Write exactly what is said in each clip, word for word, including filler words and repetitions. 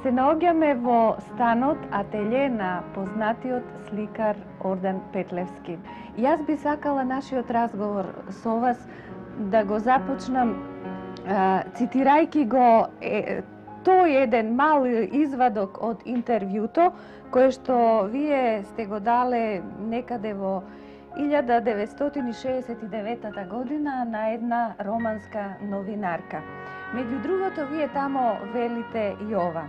Се наоѓаме во станот ателје на познатиот сликар Ордан Петлевски. Јас би сакала нашиот разговор со вас да го започнам а, цитирајќи го е, тој еден мал извадок од интервјуто кое што вие сте го дале некаде во илјада деветстотини шеесет и девета година на една романска новинарка. Меѓу другото, вие тамо велите и ова.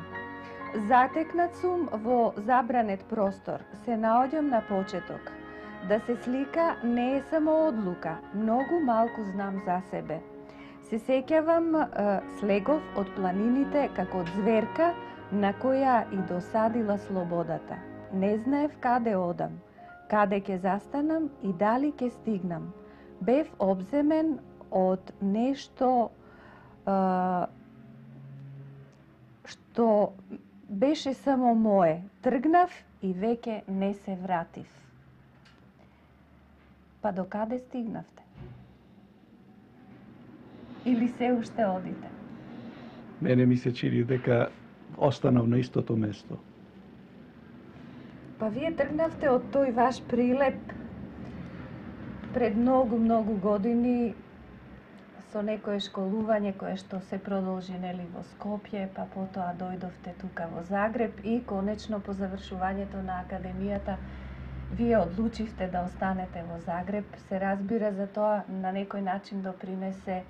Затекнат сум во забранет простор, се наоѓам на почеток. Да се слика не е само одлука, многу малку знам за себе. Се сеќавам е, слегов од планините како од зверка на која и досадила слободата. Не знаев каде одам, каде ќе застанам и дали ќе стигнам. Бев обземен од нешто е, што беше само мое. Тргнав и веќе не се вратив. Па до каде стигнавте? Или се уште одите? Мене ми се чини дека останав на истото место. Па вие тргнавте од тој ваш прилеп пред многу, многу години со некое школување кое што се продолжи нели во Скопје, па потоа дојдовте тука во Загреб и конечно по завршувањето на академијата вие одлучивте да останете во Загреб. Се разбира за тоа на некој начин допринесе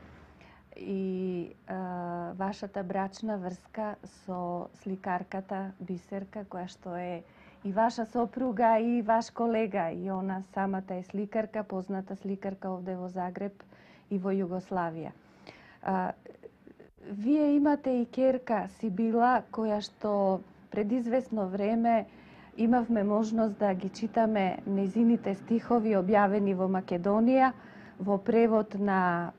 и а, вашата брачна врска со сликарката Бисерка, која што е и ваша сопруга и ваш колега, и она самата е сликарка, позната сликарка овде во Загреб и во Југославија. А, вие имате и ќерка Сибила, која што пред известно време имавме можност да ги читаме незините стихови објавени во Македонија во превод на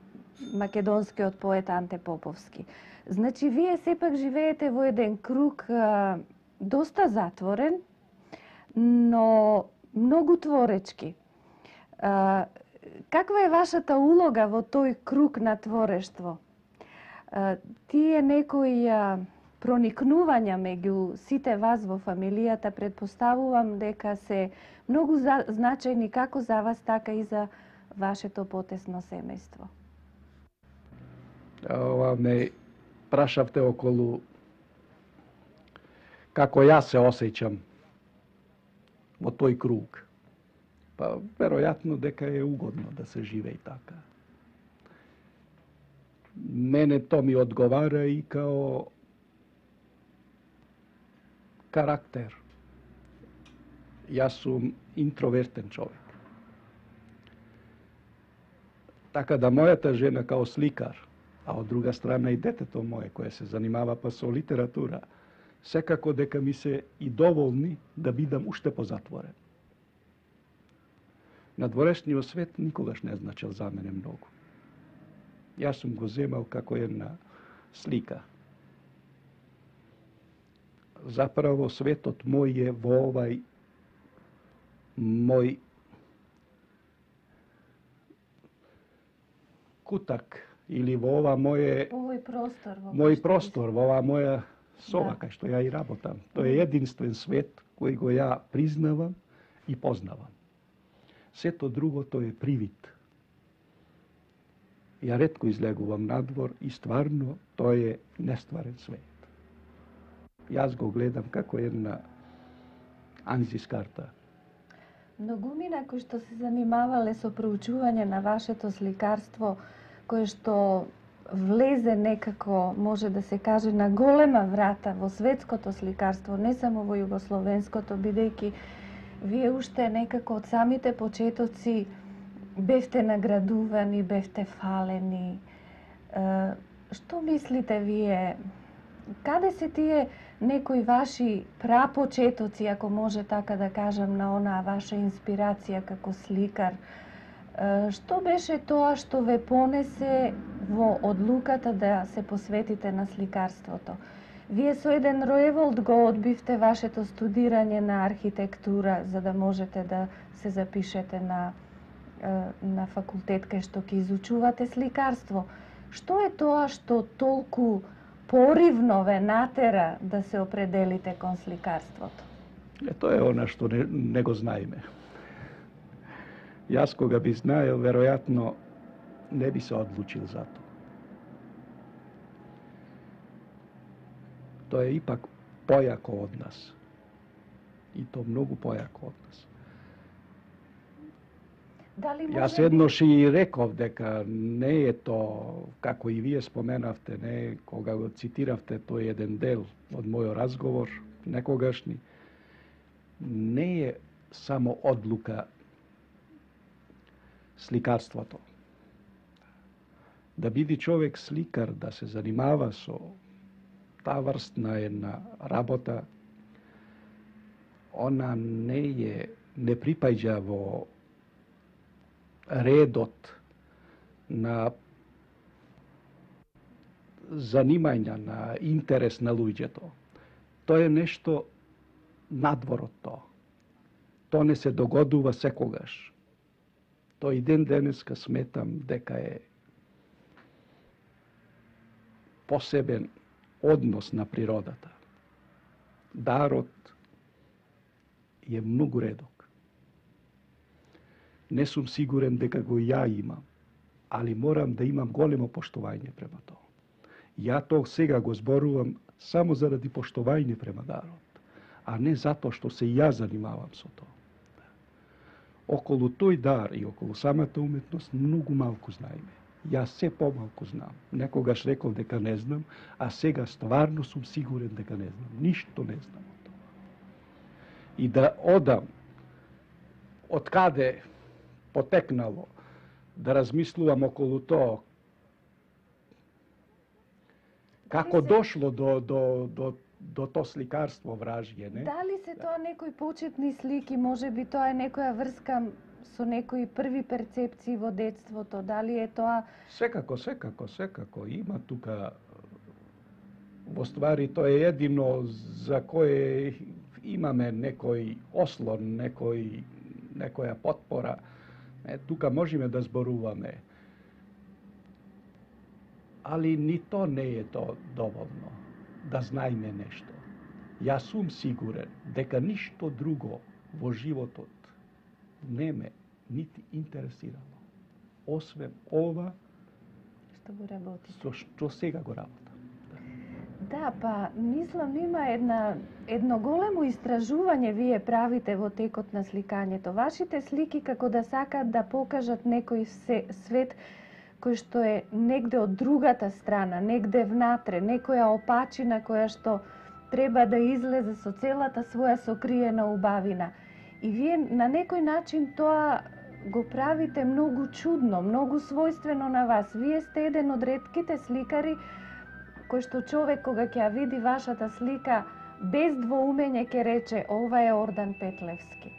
македонскиот поет Анте Поповски. Значи, вие сепак живеете во еден круг а, доста затворен, но многу творечки. А, каква е вашата улога во тој круг на творештво? А, тие некои а, проникнувања меѓу сите вас во фамилијата, предпоставувам дека се многу за, значајни како за вас, така и за вашето потесно семејство. Ова ме прашавте околу како јас се осеќам во тој круг. Па, веројатно дека е угодно да се живее така. Мене то ми одговара и као карактер. Јас сум интровертен човек. Така да мојата жена као сликар, а од друга страна и детето мое кое се занимава па со литература, секако дека ми се и доволни да бидам уште позатворен. Надворешниот свет никогаш не значил за мене многу. Јас сум го земал како една слика. Заправо светот мој е во овај мој кутак или во ова моје Овој простор, во мој простор, во ова моја соба Да. кај што ја и работам. Тој е единствен свет кој го ја признавам и познавам. Сето другото е привид. Ја ретко излегувам надвор и стварно тој е нестварен свет. Јас го гледам како една анзискарта. Многумина кои што се занимавале со проучување на вашето сликарство, кое што влезе некако, може да се каже, на голема врата во светското сликарство, не само во југословенското, бидејќи вие уште некако од самите почетоци бевте наградувани, бевте фалени. Што мислите вие? Каде се тие некои ваши прапочетоци, ако може така да кажам, на онаа ваша инспирација како сликар? Што беше тоа што ве понесе во одлуката да се посветите на сликарството? Вие со еден роеволт го одбивте вашето студирање на архитектура за да можете да се запишете на, на факултет кај што ќе изучувате сликарство. Што е тоа што толку поривно ве натера да се определите кон сликарството? Е, тоа е она што не, не го знаеме. Јас кога би знаел, веројатно не би се одлучил за тоа. Тоа е ипак појако од нас. И то многу појако од нас. Дали Јас еднош и реков дека не е то, како и вие споменавте, не, кога го цитиравте тој еден дел од мојот разговор, некогашни, не е само одлука сликарството. Да биде човек сликар, да се занимава со таа врстна една работа, она не е, не припаѓа во редот на занимања, на интерес на луѓето. Тоа е нешто надвор од тоа. Тоа не се догодува секогаш. Тој ден денеска сметам дека е посебен однос на природата. Дарот е многу редок. Не сум сигурен дека го ја имам, али морам да имам големо поштовање према тоа. Ја тоа сега го зборувам само заради поштовање према дарот, а не затоа што се ја занимавам со тоа. Околу тој дар и околу самата уметност многу малку знаеме. Јас се помалку знам. Некогаш рекол дека не знам, а сега стварно сум сигурен дека не знам. Ништо не знам од тоа. И да одам од каде потекнало, да размислувам околу тоа, како дошло до, до, до, до то сликарство вражје, не? Дали се тоа некои почетни слики, може би тоа е некоја врска со некои први перцепции во детството, дали е тоа... Секако, секако, секако. Има тука, во ствари, тоа е едино за кое имаме некој ослон, некој, некоја потпора. Е, тука можеме да зборуваме. Али ни то не е то доволно, да знаеме нешто. Јас сум сигурен дека ништо друго во животот не ме нити интересирало, освен ова што го работите. со што сега го работам. Да, па мислам има една едно големо истражување вие правите во текот на сликањето. Вашите слики како да сакаат да покажат некој свет кој што е негде од другата страна, негде внатре, некоја опачина која што треба да излезе со целата своја сокриена убавина. И вие на некој начин тоа го правите многу чудно, многу својствено на вас. Вие сте еден од ретките сликари кој што човек кога ќе ја види вашата слика без двоумење ќе рече ова е Ордан Петлевски.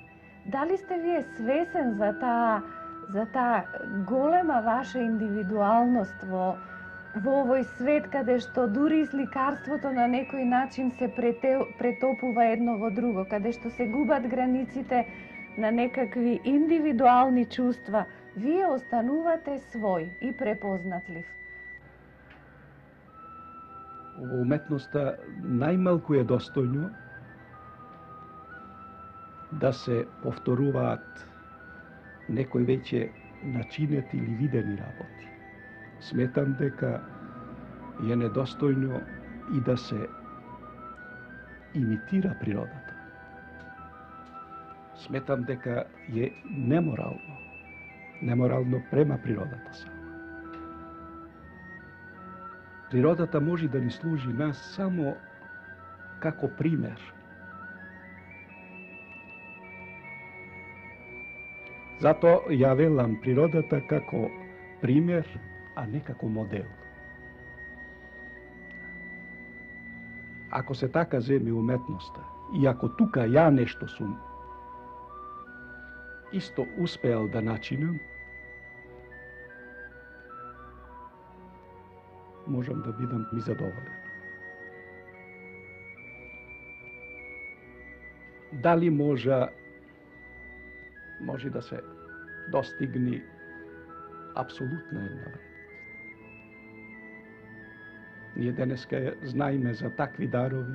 Дали сте вие свесен за таа за таа голема ваша индивидуалност во во овој свет каде што дури и сликарството на некој начин се претопува едно во друго, каде што се губат границите на некакви индивидуални чувства, вие останувате свој и препознатлив. Во уметноста најмалку е достојно да се повторуваат некои веќе начинети или видени работи. Сметам дека е недостојно и да се имитира природата. Сметам дека е неморално. Неморално према природата сама. Природата може да ни служи нас само како пример. Зато ја велам природата како пример, а не како модел. Ако се така земи уметноста, и ако тука ја нешто сум исто успеал да начинам, можам да бидам ми задоволен. Дали може може да се достигне апсолутна една вредност? Ние денеска знаеме за такви дарови,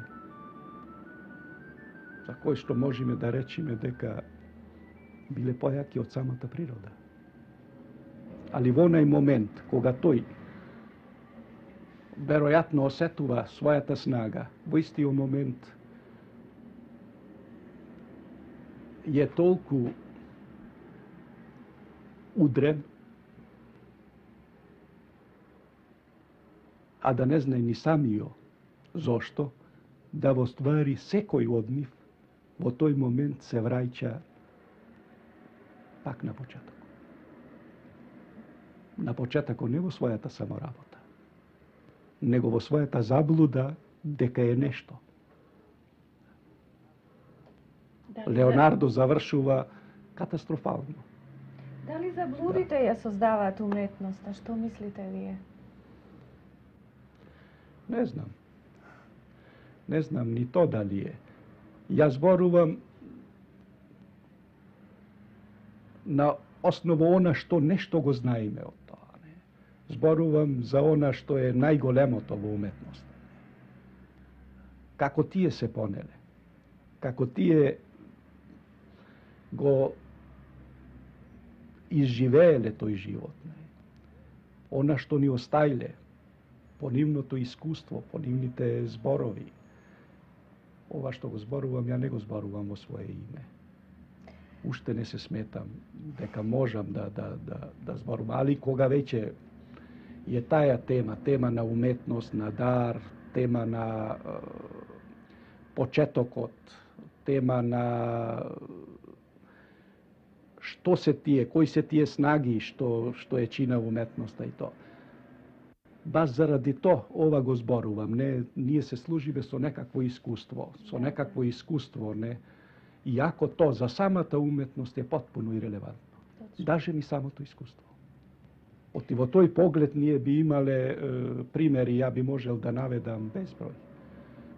за кои што можеме да речеме дека биле појаки од самата природа. Али во онај момент, кога тој веројатно осетува својата снага, во истиот момент е толку удрен, а да не знае ни самио зошто, да во ствари секој од нив во тој момент се враќа пак на почеток. На почетокот не во својата саморабота, него во својата заблуда дека е нешто. Дали Леонардо завршува катастрофално. Дали заблудите ја создаваат уметноста? Што мислите вие? Не знам. Не знам ни то дали е. Ја зборувам на основа она што нешто го знаеме од тоа. Не? Зборувам за она што е најголемото во уметноста. Како тие се понеле. Како тие го изживееле тој живот. Не? Она што ни оставиле по нивното искуство, по нивните зборови. Ова што го зборувам, ја не го зборувам во свое име. Уште не се сметам дека можам да, да, да, да зборувам, али кога веќе е таа тема, тема на уметност, на дар, тема на е, почетокот, тема на што се тие, кои се тие снаги што, што е чина уметноста и тоа. Баш заради тоа ова го зборувам, не, ние се служиме со некакво искуство, со некакво искуство, не, иако то за самата уметност е потпуно ирелевантно. Даже ми самото искуство. Оти во тој поглед ние би имале е, примери, ја би можел да наведам безброј.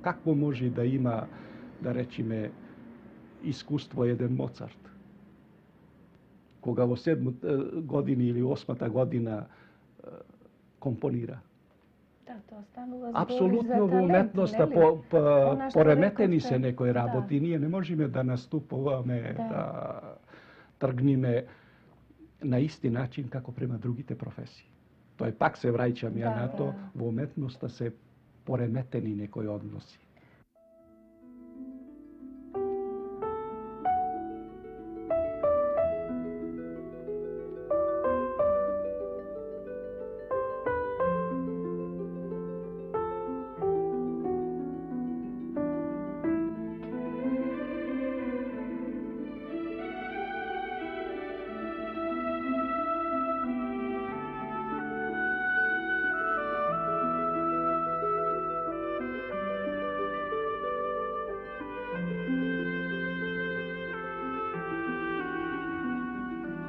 Какво може да има, да речиме, искуство еден Моцарт? Кога во седмата година или осмата година е, компонира. Да, тоа станува апсолутно во уметноста по, по, пореметени се некои работи. Да. Ние не можеме да наступуваме, да. да тргниме на исти начин како према другите професии. Тој пак се враќам ја да, на тоа, да. Во уметноста се пореметени некои односи.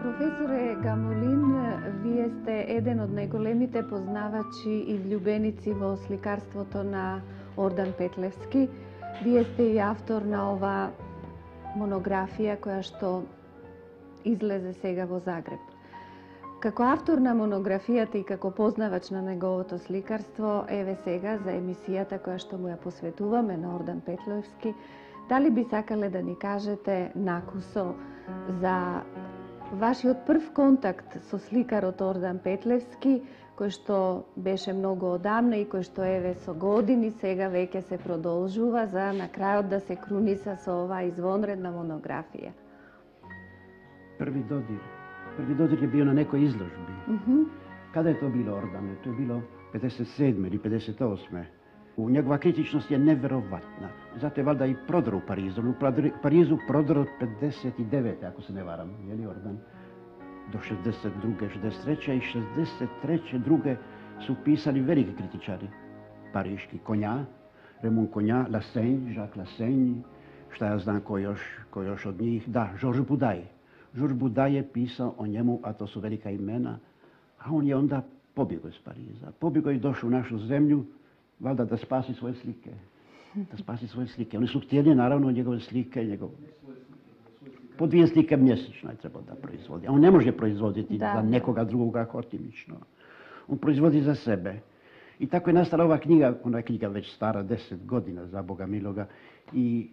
Професоре Гамолин, вие сте еден од најголемите познавачи и влюбеници во сликарството на Ордан Петлевски. Вие сте и автор на ова монографија која што излезе сега во Загреб. Како автор на монографијата и како познавач на неговото сликарство, еве сега за емисијата која што му ја посветуваме на Ордан Петлевски, дали би сакале да ни кажете накусо за вашиот прв контакт со сликарот Ордан Петлевски, кој што беше многу одамна и кој што еве со години сега веќе се продолжува за на крајот да се круниса со оваа извонредна монографија? Први додир. Први додир е био на некој изложби. Mm -hmm. Каде е тоа било, Ордане? Тоа е било педесет и седме или педесет и осме. У негова критичност е неверојатна. Зато е валда и продар у Паризу. У Паризу продар од педесет и девете, ако се не варам, е ли, Ордан? До шездесет и друге, шездесет и трете и шездесет и трете друге су писали велики критичари. Паришки Коња, Ремон Коња, Ласењ, Жак Ласењ, šta ja znam ko još, ko još od njih. Da, Žorž Budaj. Žorž Budaj je pisao o njemu, a to su velika imena, a on je onda pobjegao iz Pariza. Pobjegao i došao u našu zemlju, valjda da spasi svoje slike. Da spasi svoje slike. Oni su htjeli, naravno, njegove slike, njegov... Po dvije slike mjesečno je trebao da proizvodi. A on ne može proizvoditi da. za nekoga drugoga hotimično. On proizvodi za sebe. I tako je nastala ova knjiga, ona je knjiga već stara deset godina, za Boga miloga, i,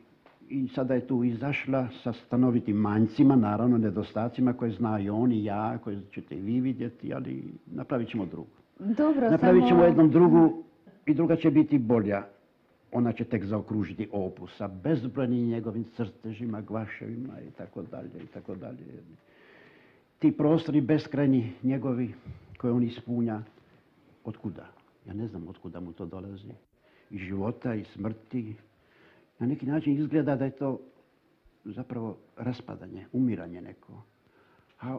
i sada je tu izašla sa stanovitim manjcima, naravno nedostacima koje zna i on i ja, koje ćete i vi vidjeti, ali napravit ćemo drugu. Dobro, napravit ćemo samo... jednom drugu i druga će biti bolja. Ona će tek zaokružiti opus sa bezbrojnim njegovim crtežima, gvaševima i tako dalje i tako dalje. Ti prostori beskrajni njegovi koje on ispunja, otkuda? Ja ne znam otkuda mu to dolazi. Iz života, iz smrti. Na neki način izgleda da je to zapravo raspadanje, umiranje neko. A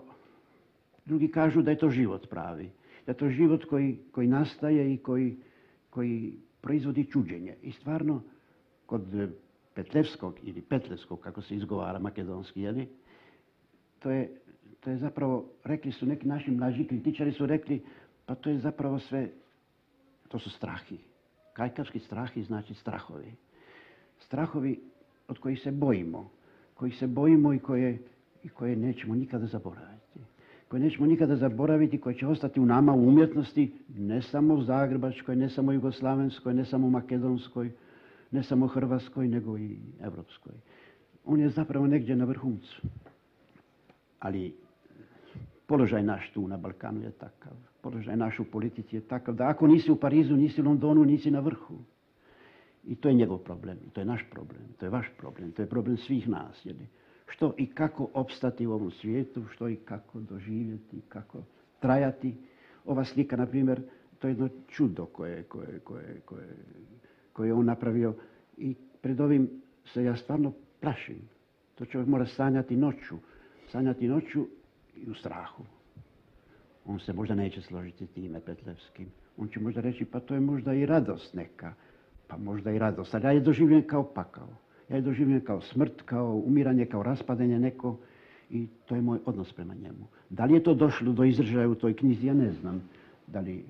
drugi kažu da je to život pravi. Da je to život koji, koji nastaje i koji, koji proizvodi čuđenje. I stvarno, kod Petlevskog ili Petlevskog, kako se izgovara makedonski, jeli, to je, to je zapravo, rekli su neki naši mlađi kritičari su rekli, pa to je zapravo sve, to su strahi. Kajkavski strahi znači strahovi. Strahovi od kojih se bojimo, kojih se bojimo i koje, i koje nećemo nikada zaboraviti. Koje nećemo nikada zaboraviti, koje će ostati u nama u umjetnosti, ne samo u Zagrebačkoj, ne samo u Jugoslavenskoj, ne samo u Makedonskoj, ne samo u Hrvatskoj, nego i Evropskoj. On je zapravo negdje na vrhuncu. Ali položaj naš tu na Balkanu je takav. Položaj naš u politici je takav da ako nisi u Parizu, nisi u Londonu, nisi na vrhu. I to je njegov problem, to je naš problem, to je vaš problem, to je problem svih nas. Jeli? Što i kako opstati u ovom svijetu, što i kako doživjeti, kako trajati. Ova slika, na primjer, to je jedno čudo koje, koje, koje, koje, koje je on napravio i pred ovim se ja stvarno plašim. To čovjek mora sanjati noću, sanjati noću i u strahu. On se možda neće složiti time Petlevskim. On će možda reći, pa to je možda i radost neka, pa možda i radost. Ali ja je doživljen kao pakao. Ja je doživljen kao smrt, kao umiranje, kao raspadanje neko i to je moj odnos prema njemu. Da li je to došlo do izražaja u toj knjizi, ja ne znam. Da li,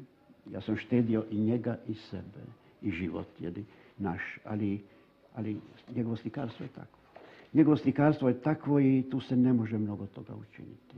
ja sam štedio i njega i sebe i život, jeli, naš, ali, ali njegovo slikarstvo je takvo. Njegovo slikarstvo je takvo i tu se ne može mnogo toga učiniti.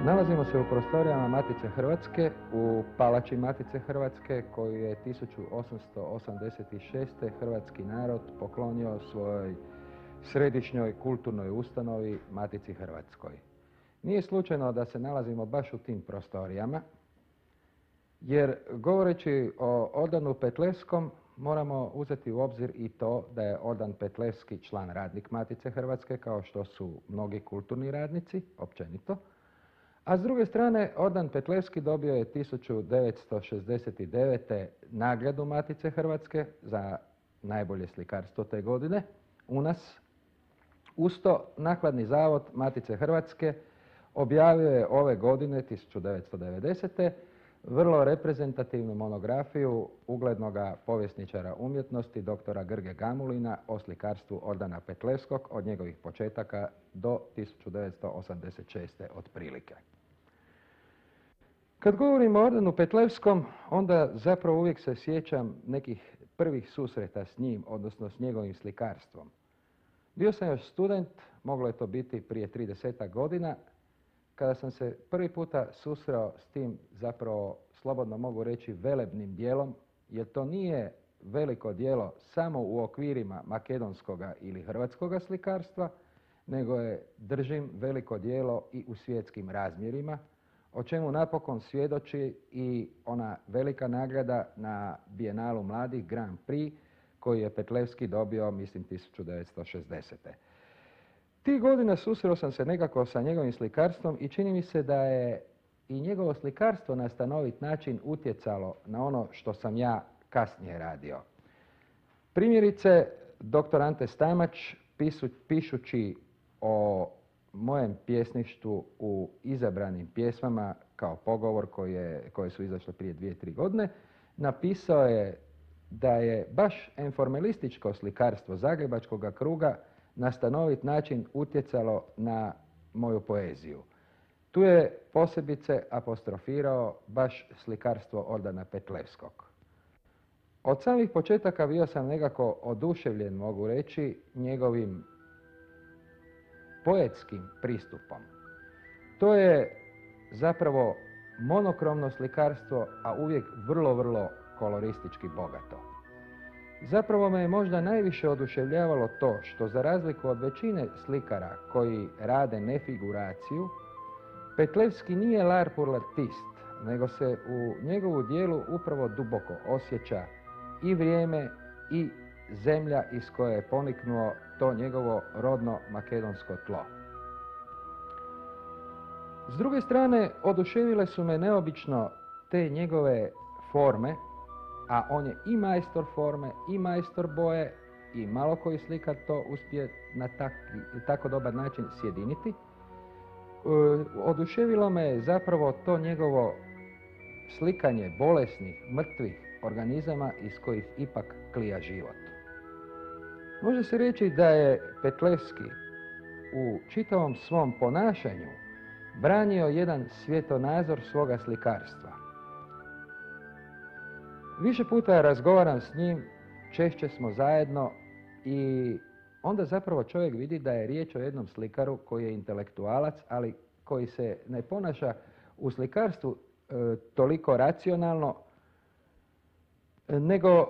Nalazimo se u prostorijama Matice Hrvatske, u palači Matice Hrvatske koju je tisuću osamsto osamdeset šeste. hrvatski narod poklonio svojoj središnjoj kulturnoj ustanovi Matici Hrvatskoj. Nije slučajno da se nalazimo baš u tim prostorijama, jer govoreći o Ordanu Petleskom moramo uzeti u obzir i to da je Ordan Petleski član radnik Matice Hrvatske, kao što su mnogi kulturni radnici, općenito. A s druge strane, Ordan Petleski dobio je tisuću devetsto šezdeset devete. nagradu Matice Hrvatske za najbolje slikarstvo te godine u nas. Uz to, Nakladni zavod Matice Hrvatske objavio je ove godine, tisuću devetsto devedesete. vrlo reprezentativnu monografiju uglednog povjesničara umjetnosti doktora Grge Gamulina o slikarstvu Ordana Petleskog od njegovih početaka do tisuću devetsto osamdeset šeste. otprilike. Kad govorimo o Ordanu Petleskom, onda zapravo uvijek se sjećam nekih prvih susreta s njim, odnosno s njegovim slikarstvom. Bio sam još student, moglo je to biti prije tridesetak godina, kada sam se prvi puta susreo s tim, zapravo slobodno mogu reći, velebnim dijelom, jer to nije veliko djelo samo u okvirima makedonskoga ili hrvatskoga slikarstva, nego je, držim, veliko djelo i u svjetskim razmjerima, o čemu napokon svjedoči i ona velika nagrada na Bijenalu mladih Grand Prix, koju je Petlevski dobio, mislim, tisuću devetsto šezdesete. Tih godina susreo sam se nekako sa njegovim slikarstvom i čini mi se da je i njegovo slikarstvo na stanovit način utjecalo na ono što sam ja kasnije radio. Primjerice, doktor Ante Stamač, pisu, pišući o mojem pjesništvu u izabranim pjesmama kao pogovor koje, koje su izašle prije dvije, tri godine, napisao je da je baš enformalističko slikarstvo Zagrebačkog kruga na stanovit način utjecalo na moju poeziju. Tu je posebice apostrofirao baš slikarstvo Ordana Petleskog. Od samih početaka bio sam nekako oduševljen, mogu reći, njegovim poetskim pristupom. To je zapravo monokromno slikarstvo, a uvijek vrlo, vrlo koloristički bogato. Zapravo me je možda najviše oduševljavalo to što, za razliku od većine slikara koji rade nefiguraciju, Petlevski nije l'art pour l'artiste, nego se u njegovu dijelu upravo duboko osjeća i vrijeme i zemlja iz koje je poniknuo to njegovo rodno makedonsko tlo. S druge strane, oduševile su me neobično te njegove forme, a on je i majstor forme, i majstor boje, i malo koji slikar to uspije na tak, tako dobar način sjediniti. E, oduševilo me zapravo to njegovo slikanje bolesnih, mrtvih organizama iz kojih ipak klija život. Može se reći da je Petlevski u čitavom svom ponašanju branio jedan svjetonazor svoga slikarstva. Više puta razgovaram s njim, češće smo zajedno i onda zapravo čovjek vidi da je riječ o jednom slikaru koji je intelektualac, ali koji se ne ponaša u slikarstvu e, toliko racionalno, nego e,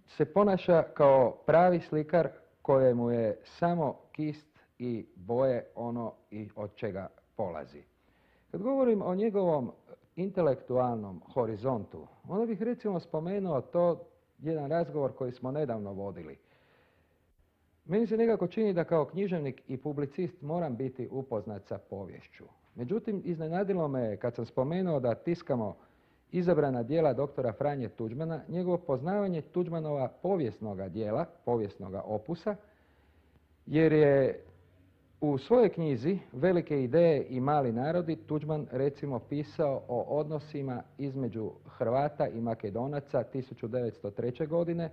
se ponaša kao pravi slikar kojemu je samo kist i boje ono i od čega polazi. Kad govorim o njegovom intelektualnom horizontu, onda bih recimo spomenuo to jedan razgovor koji smo nedavno vodili. Meni se nekako čini da kao književnik i publicist moram biti upoznat sa poviješću. Međutim, iznenadilo me kad sam spomenuo da tiskamo izabrana djela doktora Franje Tuđmana, njegovo poznavanje Tuđmanova povijesnoga djela, povijesnoga opusa, jer je u svojoj knjizi Velike ideje i mali narodi Tuđman recimo pisao o odnosima između Hrvata i Makedonaca tisuću devetsto treće. godine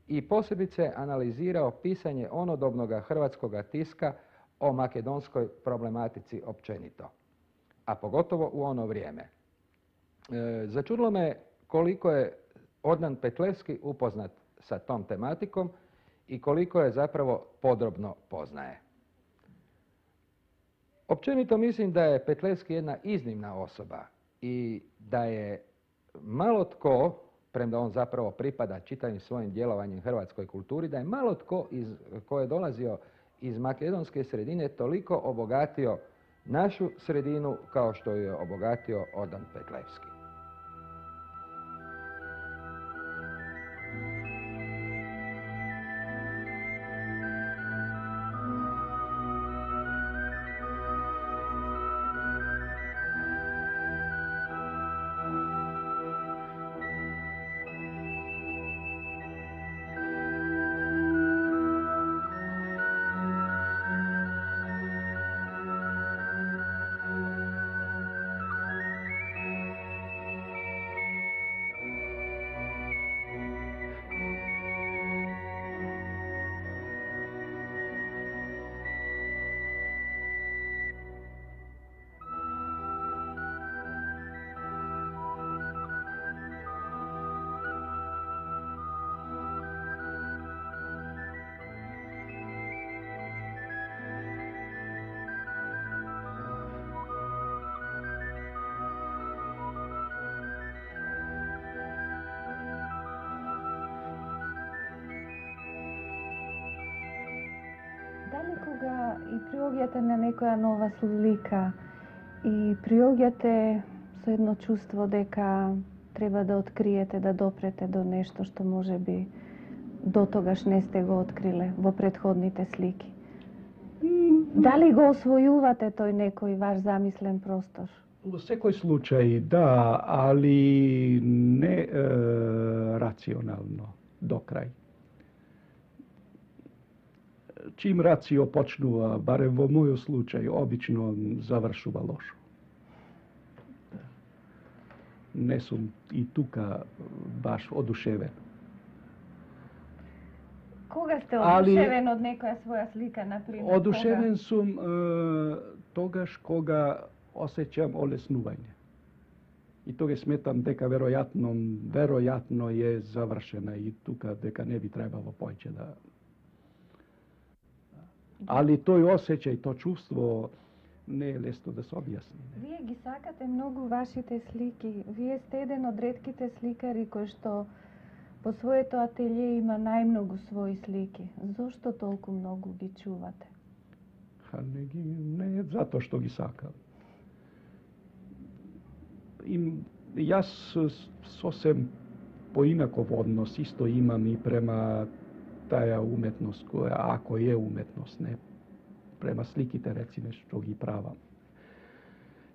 i posebice analizirao pisanje onodobnoga hrvatskoga tiska o makedonskoj problematici općenito, a pogotovo u ono vrijeme. E, začudilo me koliko je Ordan Petlevski upoznat sa tom tematikom i koliko je zapravo podrobno poznaje. Općenito mislim da je Petlevski jedna iznimna osoba i da je malo tko, premda on zapravo pripada čitavim svojim djelovanjem hrvatskoj kulturi, da je malo tko iz, ko je dolazio iz makedonske sredine toliko obogatio našu sredinu kao što je obogatio Ordan Petlevski. Дали кога и приоѓате на некоја нова слика и приоѓате со едно чувство дека треба да откриете, да допрете до нешто што може би до тогаш не сте го откриле во претходните слики? Дали го освојувате тој некој ваш замислен простор? Во секој случај, да, али не е, рационално, до крај. Чим рацио почнува, барем во мојот случај, обично завршува лошо. Не сум и тука баш одушевен. Кога сте Али- одушевен од некоја своја слика, например? Одушевен сум е, тогаш кога осеќам олеснување. И тога сметам дека веројатно, веројатно е завршена и тука дека не би требало поќе да... Али тој осеќај, то чувство не е лесно да се објасни. Вие ги сакате многу вашите слики. Вие сте еден од ретките сликари кои што по своето ателје има најмногу своји слики. Зошто толку многу ги чувате? Ха, не, ги, не е затоа што ги сакам. Им, јас сосем поинаков однос исто имам и према таја уметност која, ако е уметност, не према сликите, рециме, што ги правам.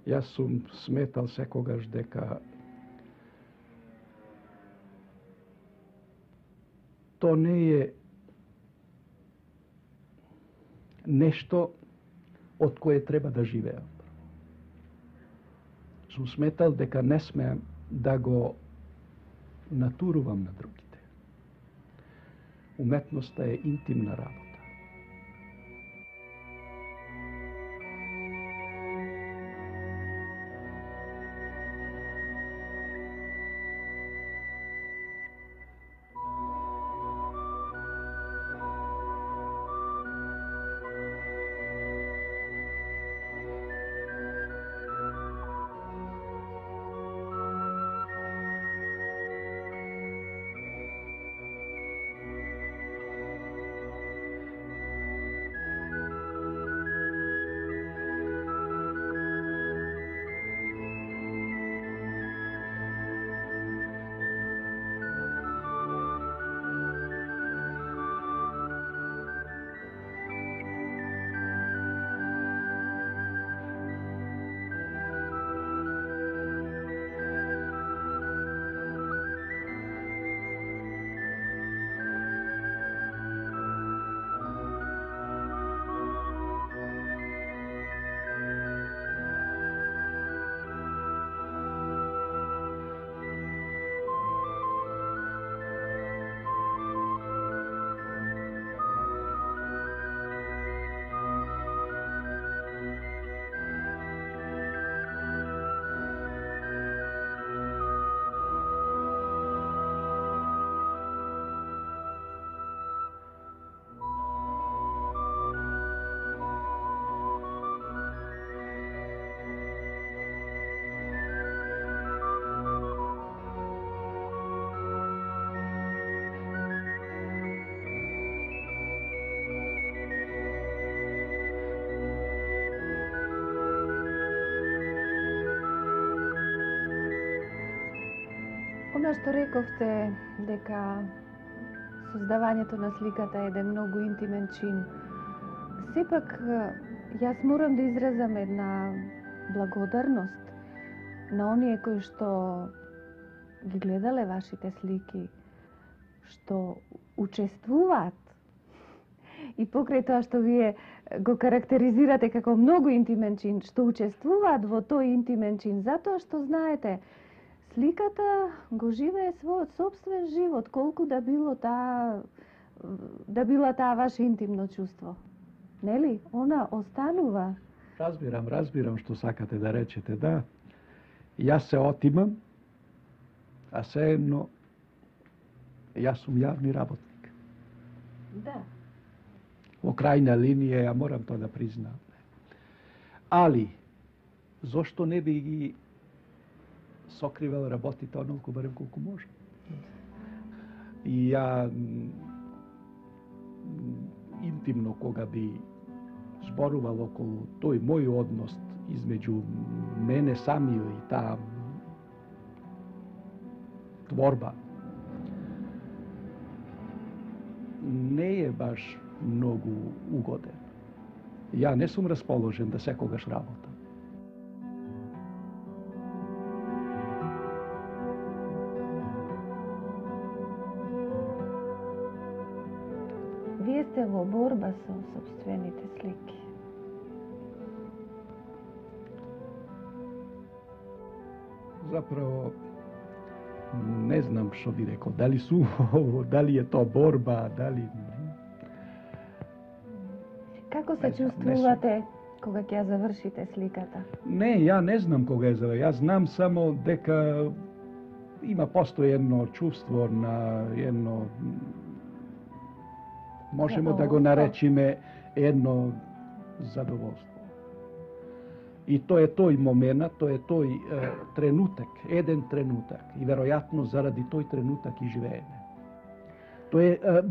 Јас сум сметал секогаш дека то не е нешто од кое треба да живеам. Сум сметал дека не смеам да го натурувам на другите. Уметноста е интимна работа. Она што рековте дека создавањето на сликата е еден многу интимен чин, сепак јас морам да изразам една благодарност на оние кои што ги гледале вашите слики, што учествуваат и покрај тоа што вие го карактеризирате како многу интимен чин, што учествуваат во тој интимен чин, затоа што знаете, сликата го живее својот собствен живот, колку да било таа да била таа ваше интимно чувство. Нели? Она останува. Разбирам, разбирам што сакате да речете, да. Јас се отимам, а сеедно јас сум јавни работник. Да. Во крајна линија, ја морам тоа да признам. Али, зошто не би ги сокривал работите онолку барем колку може? И ја интимно кога би зборувал околу тој мој однос измеѓу мене самио и таа творба, не е баш многу угоден. Ја не сум расположен да секогаш работам. Вие сте во борба со собствените слики. Заправо, не знам што би рекол, дали сум, дали е тоа борба, дали... Како се чувствувате кога ќе ја завршите сликата? Не, ја не знам кога е за... Јас знам само дека има постои едно чувство на едно... Можемо да го наречиме едно задоволство. И тоа е тој момент, тоа е тој е, тренутак, еден тренутак. И веројатно заради тој тренутак и живееме. Тоа е, е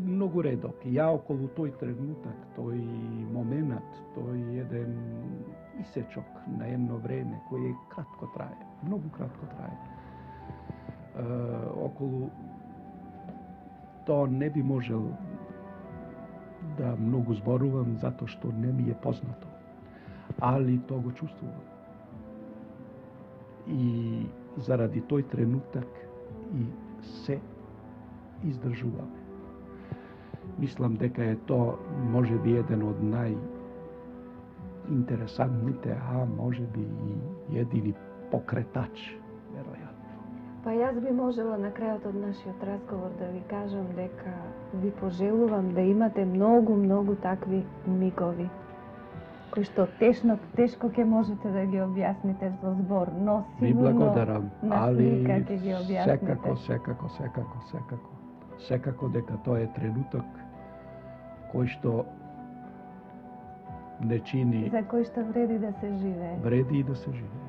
многу редок. Ја околу тој тренутак, тој момент, тој еден исечок на едно време кој е кратко трае, многу кратко трае. Е, околу тоа не би можел да многу зборувам затоа што не ми е познато. Али тоа го чувствувам. И заради тој тренутак и се издржуваме. Мислам дека е тоа може би еден од најинтересантните, а може би и едини покретач, веројатно. Па јас би можела на крајот од нашиот разговор да ви кажам дека ви пожелувам да имате многу, многу такви мигови, кои што тешно, тешко ќе можете да ги објасните со збор, но Ви сигурно благодарам, на али слика ќе ги објасните. секако, секако, секако, секако. Секако дека тоа е тренуток кој што не чини, За кој што вреди да се живее. вреди и да се живее.